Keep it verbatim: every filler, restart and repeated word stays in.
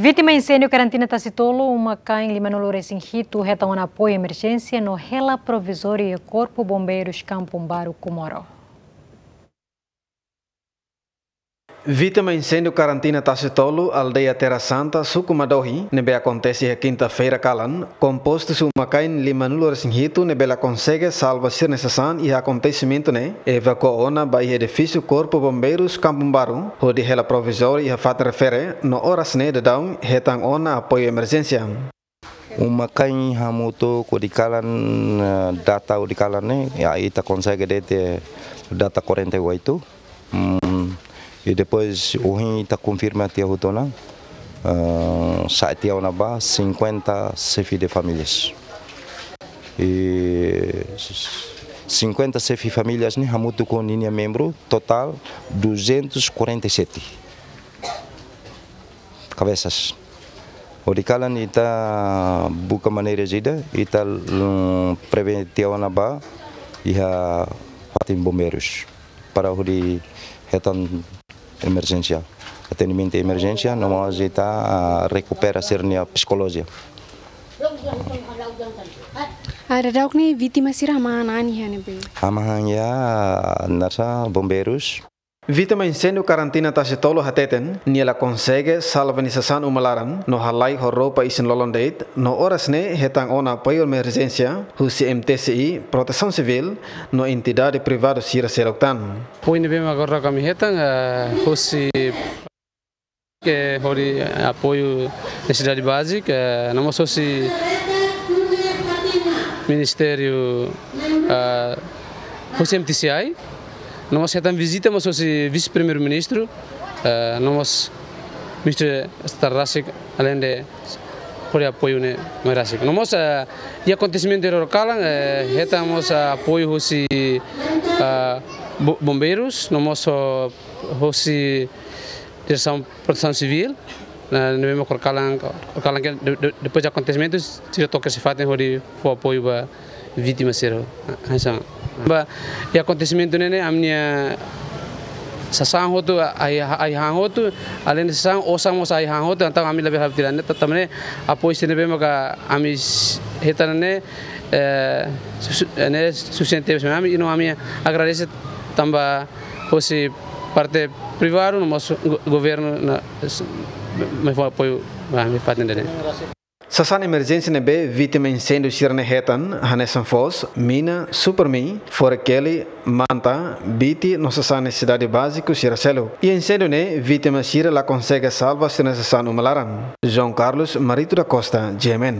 Vítima inséndiu karantina Tasitolu, uma-kain limanulu-resin-hitu, hetan ona apoiu emerjénsia no hela provizóriu iha Korpu Bombeirus Kampung Baru, Comoro. Vítima inséndiu karantina Tasitolu, aldeia Terra Santa, suku Madohi, ne'ebé akontese iha kinta-feira kalan, kompostu husi uma-kain limanulu-resin-hitu ne'ebé la konsege salva sira-nia sasán iha akontesimentu ne'e, evakua ona ba iha edifísiu Korpu Bombeirus Kampung Baru, hodi hela provizóriu iha fatin refere, no oras ne'e daudaun hetan ona apoiu emerjénsia. Uma-kain hamutuk hodi kalan, eh, data hodi kalan ne'e, ya, ita konsege de'it data quarenta e oito. Mm, e depois, ohin ita konfirma tiha hotu ona, eh, sa'e tiha ona ba cinquenta chefe de famílias. E cinquenta chefe famílias ne'e hamutuk ho ninia membru, totál duzentos e quarenta e sete cabeças. Hodi kalan ita buka maneira ida, ita, mm, prevene tiha ona ba iha fatin bombeirus para hodi hetan emerjénsia, atendimentu emerjénsia, no mós ita, ah, rekupera sira-nia psikolojia. Ah, daudauk ne'e vítima sira hamahan an iha ne'ebé? Hamahan iha, ah, nasa bombeirus. Vítima inséndiu karantina Tasitolu hateten, nia la konsege salva nia sasán uma laran, no halai ho roupa isin-lolon de'it, no oras ne'e hetan ona apoiu emerjénsia husi M T C I, Protesaun Sivíl, no entidade privadu sira seluk tan. Apoiu ne'ebé mak agora ami hetan, eh, husi ke hodi apoiu nesesidade bázika, eh, no mós husi Ministériu, eh, husi M T C I, no mós hetan vizita mós husi Vise-Primeiru-Ministru, eh, no mós Ministru Estadu rasik, alende hodi apoiu ne'e mai rasik. No mós, eh, iha akontesimentu iha loron kalan, eh, hetan mós, eh, apoiu husi, eh, bo-, bombeirus, no mós, eh, husi Diresaun Protesaun Sivíl, ne'ebé mak agora kalan, agora kalan ke de-, de-, depois de akontesimentu, sira to'o iha fatin hodi fó apoiu ba vítima sira. Hanesan. Ba, iha akontesimentu ne'e ne'e, ami-nia sasán hotu, ai, ai-han hotu, alende sasán, osan mós ai-han hotu, entaun ami labele halo tiha ona ne'e, ta-, tanba ne'e, apoiu sira ne'ebé maka ami s-, hetan ne'e, eh, su-, su-, ne'e sufisiente ba ami, i no ami agradese tanba husi parte privadu, no mós go-, governu ne'e s-, mai fó apoiu ba ami fatin ne'e. Sasán emerjénsia ne'ebé vítima inséndiu sira-ne'e hetan, hanesan foos, mina, Supermi, fore-keli, manta, biti, no sasán nesesidade báziku sira seluk. Iha inséndiu ne'e, vítima sira la konsege salva sira-nia sasán uma laran. João Carlos Marito da Costa, G M N.